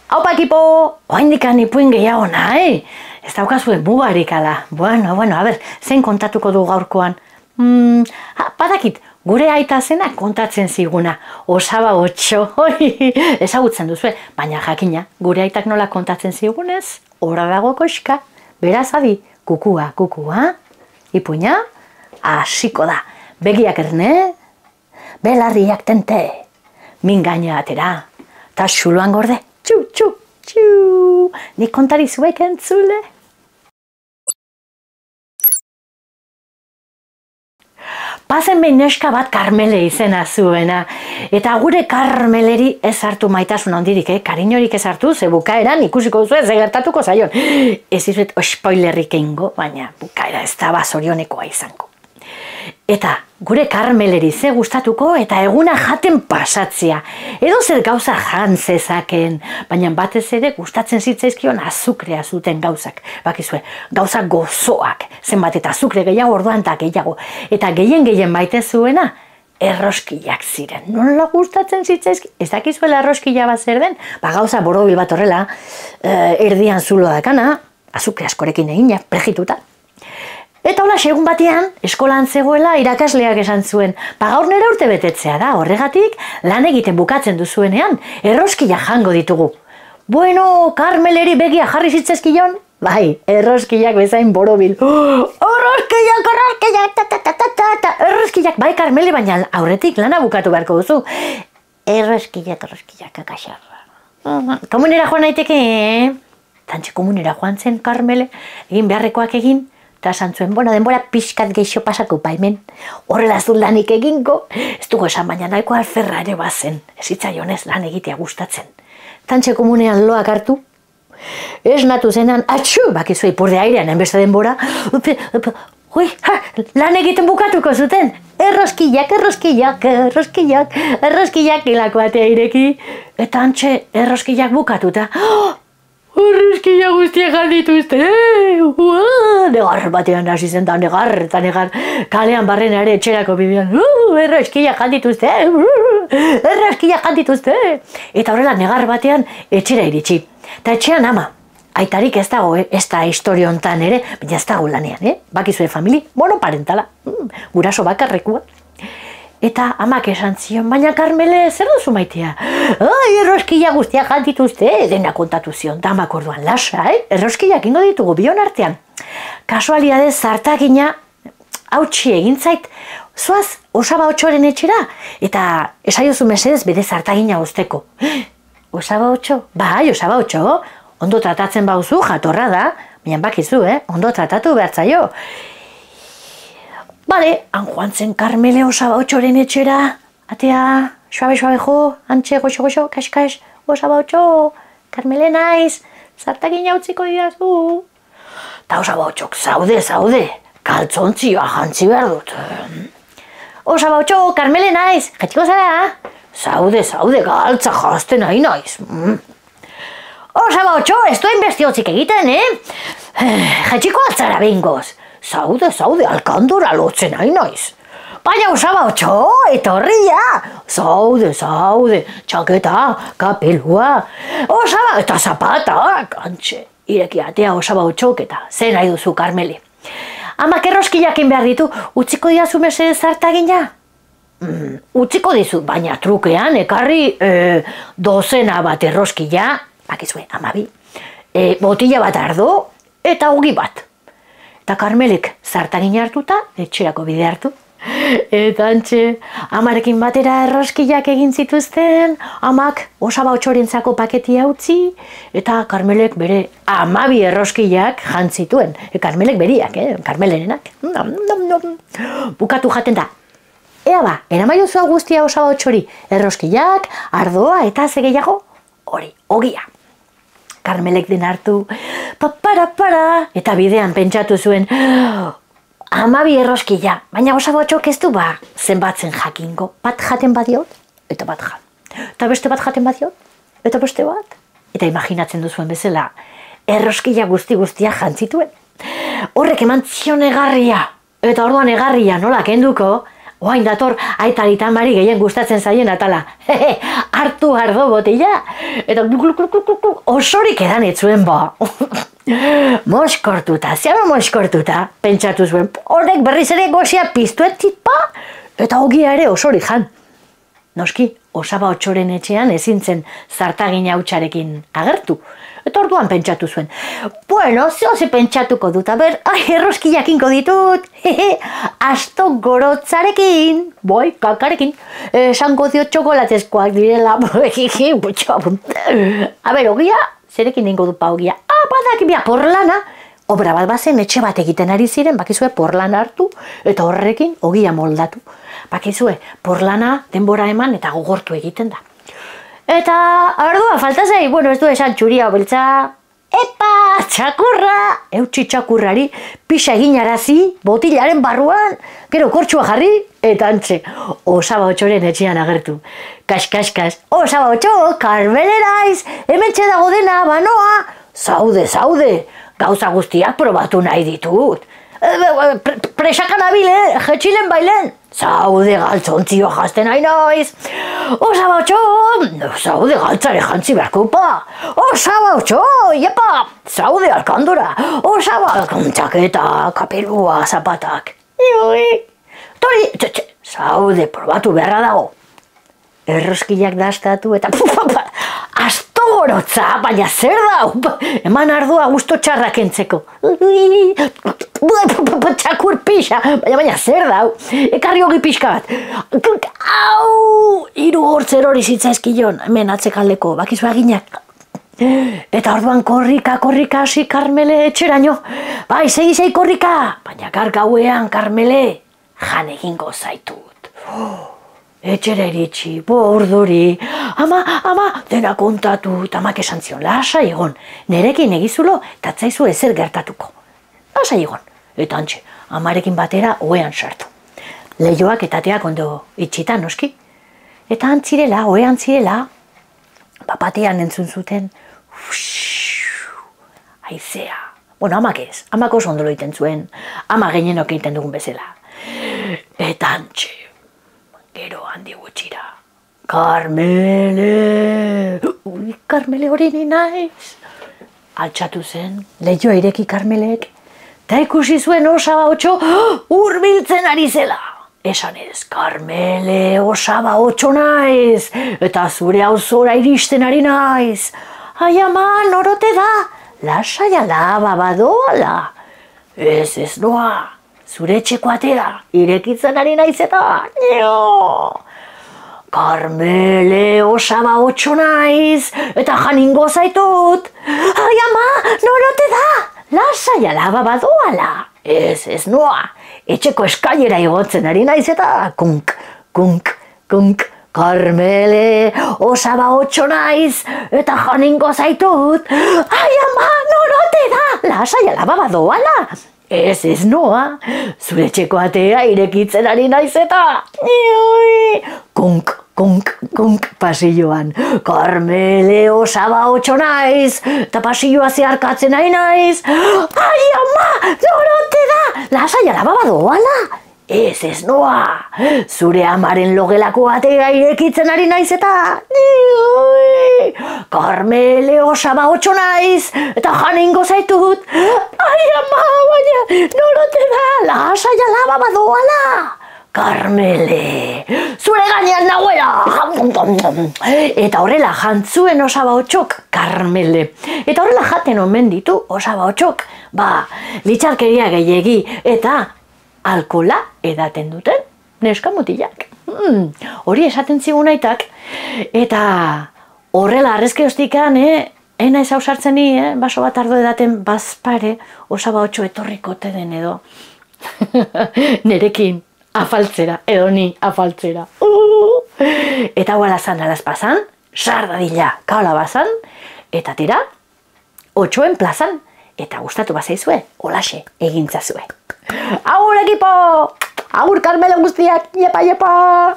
Haupa ekipo, oaindikan ipuin gehiago nahi. Ez daukazue mugarik ala. Bueno, a ber, zein kontatuko du gaurkoan? Badakit, gure aita zena kontatzen ziguna. Osaba otxo, ezagutzen duzue. Baina jakina, gure aitak nola kontatzen zigunez, horra dago koxka. Beraz adi, kukua. Ipuina, hasiko da. Begiak erne, belarriak tente. Min gaina atera, ta xuloan gorde. Txu. Nik kontari zuek entzule. Pazen behin neska bat Karmele izena zuena. Eta gure Karmeleri ez hartu maitasun handirik, kariñorik ez hartu, ze bukaeran ikusiko duzu ez gertatuko zaion. Ez izuet spoilerrik eingo, baina bukaera ez da bazorionekoa izango. Eta gure Karmeleri ze gustatuko eta eguna jaten pasatzea. Edo zer gauza jan zezaken, baina batez ere gustatzen zitzaizkion azukrea zuten gauzak. Bakizue, gauza gozoak, zenbat eta azukre gehiago orduan eta gehiago. Eta gehien baite zuena, erroskillak ziren. Nola gustatzen zitzaizki? Ez dakizuela erroskilla bat zer den? Gauza borobil bat horrela, erdian zulo dakana, azukre askorekin egina, prejituta. Eta hola, segun batean, eskolan zegoela irakasleak esan zuen. Gaur nera urte betetzea da, horregatik, lan egiten bukatzen duzuenean, erroskila jango ditugu. Bueno, Karmeleri begia jarri zitzezkion? Bai, erroskillak bezain borobil. Erroskillak, bai Karmele, baina aurretik lana bukatu beharko duzu. Erroskillak, akasarra. Komunera joan naiteke, Tantxe komunera joan zen Karmele, egin beharrekoak egin, eta esan zuen, denbora pixkat geixo pasako hemen. Horrela ez dut lanik egingo, ez dugu esan baina nahiko alferra ere bazen. Ez hitzaionez lan egitea gustatzen. Tantxe komunean loak hartu, ez natu zenan, bakizu ipurde airean, enbeste denbora, lan egiten bukatuko zuten. Erroskillak, hilako batea ireki, eta antxe erroskillak bukatuta. Erroskilla guztiak jaldituzte, negar batean hasi zen, negar, kalean barrena ere etxerako bidean, erroskilla jaldituzte, eta horrela negar batean etxera iritsi. Eta etxean ama, aitarik ez dago, ez da historio hontan ere, baina ez dago lanean, bakizue famili, monoparentala, guraso bakarrekua. Eta amak esan zion, baina Karmele, zer duzu maitea? Erroskilla guztiak jaldituzte, dena kontatu zion, da amak orduan lasa, erroskillak ingo ditugu bion artean. Kasualidadez zartakina, hautsi egin zait, zoaz Osaba Otxoren etxera, eta esaiozu mesedez bere zartakina uzteko. Osaba Otxo? Bai, Osaba Otxo, ondo tratatzen bauzu, jatorra da, baina bakizu, ondo tratatu behartzaio. Bale, han joan zen Karmele Osaba Otxoren etxera, atea, suabe jo, antxe goxo, kas, Osaba Otxo, Karmele naiz, zartakina utziko didazu. Ta Osaba Otxok, zaude, kaltzontzioa jantzi behar dut. Osaba Otxo, Karmele naiz, jetxiko zara? Zaude, galtza jazten nahi naiz. Osaba Otxo, ez duen bestiotzik egiten, jetxiko altzara behingoz. Zaude, alkandora lotzen nahi naiz. Baina Osaba Otxo, etorria. Zaude, txaketa, kapelua. Osaba, eta zapatak, antxe. Ireki atea Osaba Otxok eta zer nahi duzu Karmele. Amak erroskillakin behar ditu, utziko diazu mesedez zartagina? Utziko dizu, baina trukean, ekarri dozena bat erroskilla, bakizue, amabi, botila bat ardo eta ogi bat. Eta Karmelek zartagina hartuta, etxerako bide hartu. Eta antxe, amarekin batera erroskillak egin zituzten, amak Osaba Otxorentzako paketia utzi, eta Karmelek bere amabi erroskillak jantzituen. Karmelek beriak, Karmelenenak. Bukatu jaten da. Ea ba, eramaiozu guztia Osaba Otxori, erroskillak, ardoa eta ze gehiago, hori, ogia. Karmelek den hartu, para, eta bidean pentsatu zuen, amabi erroskilla, baina Osaba Otxok ez du zenbatzen jakingo. Bat jaten badiot, eta bat jan. Eta beste bat jaten badiot, eta beste bat. Eta imaginatzen duzuen bezala, erroskilla guztiak jantzituen. Horrek eman zion egarria, eta orduan egarria nola kenduko, Oain dator, aitari tamari gehien gustatzen zaien atala. Hartu ardo botila, eta osorik edan etzuen ba. Moskortuta, ziama moskortuta, pentsatu zuen, horrek berriz ere gozia piztuetzit pa, eta ogia ere osorik jan. Noski, Osaba Otsoren etxean ezin zen zartagin hautsarekin agertu. Eta orduan pentsatu zuen. Bueno, ze pentsatuko dut, aber, erroski jakinko ditut. Asto gorotzarekin, boi, kakarekin. Esango dio txokolatezkoak direla. Aber, ogia, zerekin ningo du pa ogia. Badak, bia, porlana. Obra bat bazen etxe bat egiten ari ziren, bakizue porlana hartu, eta horrekin ogia moldatu. Bakizue, porlana denbora eman eta gogortu egiten da. Eta, ardua, falta zei, bueno, ez du esan txuria beltza. Epa, txakurra! Eutsi txakurrari, pixa eginarazi, botilaren barruan, gero kortxua jarri, eta antxe, Osaba Otsoren etxean agertu. Kas, Osaba Otso, Karmelenaiz, hementxe dago dena, banoa, zaude, gauza guztiak probatu nahi ditut. Presakan abile, jetxilen bailen. Zaude galtzontzio jazten nahi noiz. Osaba Otso, zaude galtzare jantzi beharkupa. Osaba Otso, iepa, zaude alkandora. Osaba txaketa, kapelua, zapatak. Tori, zaude probatu beharra dago. Erroskilak dastatu eta asto gorotza, baina zer da? Eman ardua gusto txarrak entzeko. Txakur pixa, baina zer da? Ekarri hogi pixka bat. Au! Hiru hortzer hori zitzaizkion, hemen atzekaldeko, bakizu aginak. Eta orduan korrika hasi Karmele etxeraino. Bai, segi korrika, baina gauean Karmele jan egingo zaitut. Etxera iritsi, urduri, ama, dena kontatu, amak esan zion, lasai egon, nerekin egizulo, tatzaizu ezer gertatuko. Lasai egon, eta antxe, amarekin batera oean sartu. Leioak eta ateak ondo itxita, noski. Eta antzirela, oean zirela, bapatean entzun zuten, aizea. Bueno, amak ez, amak oso ondolo iten zuen, ama gehienok egiten dugun bezala. Eta antxe, gero handi gutxira. Karmele! Ui, Karmele hori ni naiz. Altxatu zen, lehioa ireki Karmelek, eta ikusi zuen Osaba Otso hurbiltzen ari zela. Esan ez, Karmele, Osaba Otso naiz, eta zure auzora iristen ari naiz. Ai ama, norote da, lasai alaba badoala. Ez noa. Zure etxeko atera, irekitzen ari naiz eta... Karmele, Osaba Otso naiz, eta janingo zaitut. Ai ama, norote da, lasai alaba badoala. Ez noa, etxeko eskailera igotzen ari naiz eta... Kunk, Karmele, Osaba Otso naiz, eta janingo zaitut. Ai ama, norote da, lasai alaba badoala. Ez noa, zure etxeko atea irekitzen ari naiz eta... Kunk, pasilloan. Karmele, Osaba Otso naiz, eta pasilloa zeharkatzen ari naiz. Ai ama, norote da, lasai alaba badoala. Ez noa, zure amaren logelako atea irekitzen ari naiz eta... Karmele, Osaba Otso naiz, eta janingo zaitut. Ai ama, baina norote da, lasai alaba badoala. Karmele, zure gainean nagoela. Eta horrela jantzuen Osaba Otsok Karmele. Eta horrela jaten omen ditu Osaba Otsok. Litxarkeria gehiegi eta alkola edaten duten neska mutilak. Hori esaten zigun aitak. Eta horrela arrezkeoztikan, ena ez hausartzen ni, baso bat ardo edaten bazpare Osaba Otso etorriko den edo. Nerekin afaltzera, edo ni afaltzera. Eta hau alazan alazpazan, sardadila kaola bazan, eta tira, Otsoen plazan. Eta gustatu bazaizue, holaxe egintzazue. Agur ekipo! Agur Karmele guztiak, iepa!